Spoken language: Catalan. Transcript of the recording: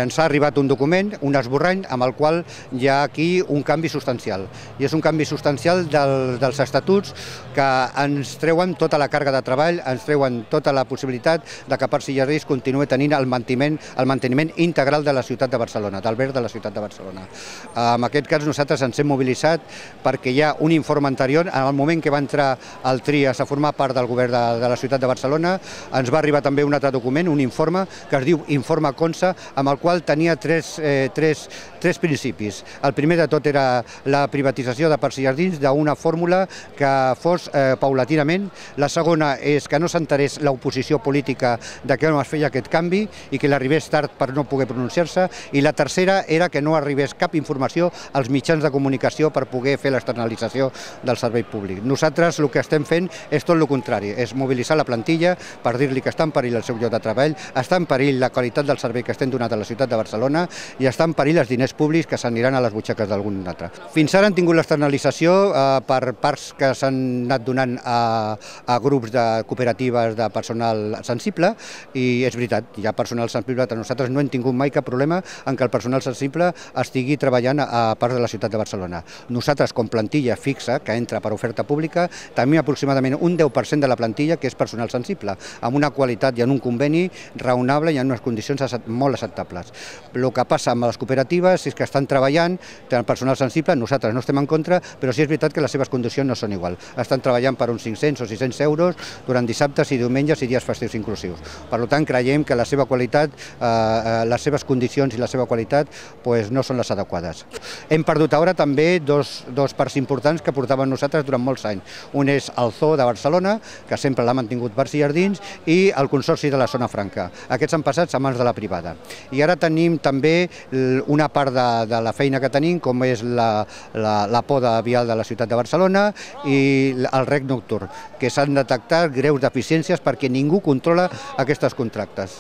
Ens ha arribat un document, un esborrany, amb el qual hi ha aquí un canvi substancial. I és un canvi substancial dels estatuts que ens treuen tota la càrrega de treball, ens treuen tota la possibilitat de que Parcs i Jardins continuï tenint el manteniment integral de la ciutat de Barcelona, del verd de la ciutat de Barcelona. En aquest cas nosaltres ens hem mobilitzat perquè hi ha un informe anterior, en el moment que va entrar el TRIAS a formar part del govern de la ciutat de Barcelona, ens va arribar també un altre document, un informe que es diu Informe Consa, amb el qual tenia tres principis. El primer de tot era la privatització de Parcs i Jardins d'una fórmula que fos paulatinament. La segona és que no s'enterés l'oposició política de que no es feia aquest canvi i que l'arribés tard per no poder pronunciar-se. I la tercera era que no arribés cap informació als mitjans de comunicació per poder fer l'externalització del servei públic. Nosaltres el que estem fent és tot el contrari, és mobilitzar la plantilla per dir-li que està en perill el seu lloc de treball, està en perill la qualitat del servei que estem donant a la ciutat de Barcelona i està en perill els diners públics que s'aniran a les butxaques d'algun altre. Fins ara han tingut l'externalització per parcs que s'han anat donant a grups de cooperatives de personal sensible i és veritat, hi ha personal sensible, nosaltres no hem tingut mai cap problema en que el personal sensible estigui treballant a parts de la ciutat de Barcelona. Nosaltres, com plantilla fixa que entra per oferta pública, tenim aproximadament un 10% de la plantilla que és personal sensible, amb una qualitat i en un conveni raonable i en unes condicions molt acceptables. El que passa amb les cooperatives és que estan treballant, tenen personal sensible, nosaltres no estem en contra, però sí és veritat que les seves condicions no són igual. Estan treballant per uns 500 o 600 euros durant dissabtes i diumenges i dies festius inclusius. Per tant, creiem que la seva qualitat, les seves condicions i la seva qualitat no són les adequades. Hem perdut ara també dos parcs importants que portaven nosaltres durant molts anys. Un és el Zoo de Barcelona, que sempre l'ha mantingut Parcs i Jardins, i el Consorci de la Zona Franca. Aquests han passat a mans de la privada. I ara tenim també una part de la feina que tenim, com és la poda vial de la ciutat de Barcelona i el rec nocturn, que s'han detectat greus deficiències perquè ningú controla aquests contractes.